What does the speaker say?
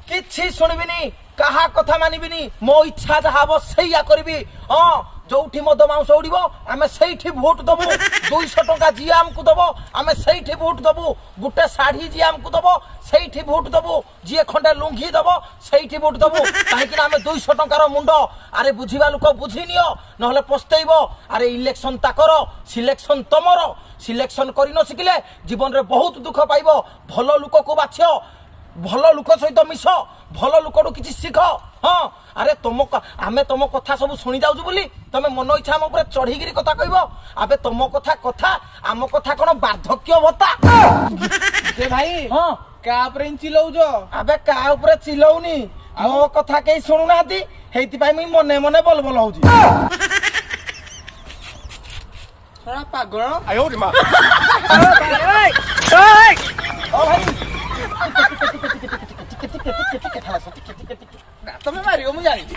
କିଛି ଶୁଣିବିନି, କାହା କଥା ମାନିବିନି, ମୋ ଇଚ୍ଛା ଯାହା ହବ ସେଇଆ କରିବି। ହଁ, ଯୋଉଠି ମଦ ମାଉଁସ ଉଡିବ ଆମେ ସେଇଠି ଭୋଟ ଦବୁ। 200 ଟଙ୍କା ଯିଏ ଆମକୁ ଦବ ଆମେ ସେଇଠି ଭୋଟ ଦବୁ। ଗୋଟେ ଶାଢୀ ଯିଏ ଆମକୁ ଦବ ସେଇଠି ଭୋଟ ଦବୁ। ଯିଏ ଖଣ୍ଡେ ଲୁଙ୍ଘି ଦବ ସେଇଠି ଭୋଟ ଦବୁ, କାହିଁକି ନା ଆମେ 200 ଟଙ୍କାର ମୁଣ୍ଡ। ଆରେ ବୁଝିବା ଲୋକ ବୁଝି ନିଅ, ନହେଲେ ପସ୍ତେଇବ। ଆରେ ଇଲେକ୍ସନ ତାକର, ସିଲେକ୍ସନ ତମର। ସିଲେକ୍ସନ କରି ନ ଶିଖିଲେ ଜୀବନରେ ବହୁତ ଦୁଃଖ ପାଇବ। ଭଲ ଲୋକକୁ ବାଛ, ଭଲ ଲୋକ ସହିତ ମିଶ, ଭଲ ଲୋକଠୁ କିଛି ଶିଖ। ହଁ, ଆରେ ତମ ଆମେ ତମ କଥା ସବୁ ଶୁଣି ଯାଉଛୁ ବୋଲି ତମେ ମନ ଇଚ୍ଛା ଆମ ଉପରେ ଚଢିକିରି କଥା କହିବ? ଆବେ ତମ କଥା କଥା, ଆମ କଥା କଣ ବାର୍ଦ୍ଧକ୍ୟ ଭତ୍ତା ଯେ ଭାଇ? ହଁ, କାହା ଉପରେ ଚିଲଉଛ? ଆବେ କାହା ଉପରେ ଚିଲଉନି, ମୋ କଥା କେହି ଶୁଣୁନାହାନ୍ତି, ହେଇଥିପାଇଁ ମୁଇଁ ମନେ ମନେ ବଲ ବଲ ହଉଛି। ଶଳା ପାଗଳ। ଓ ଭାଇ, ଟିକେ ଟିକେ ଟିକେ ଟିକେ ଟିକେ ଟିକେ ଟିକେ ଟିକେ ଟିକେ, ଟିକେ ଟିକେ ଟିକେ। ତମେ ମାରିବ ମୁଁ ଜାଣିଛି।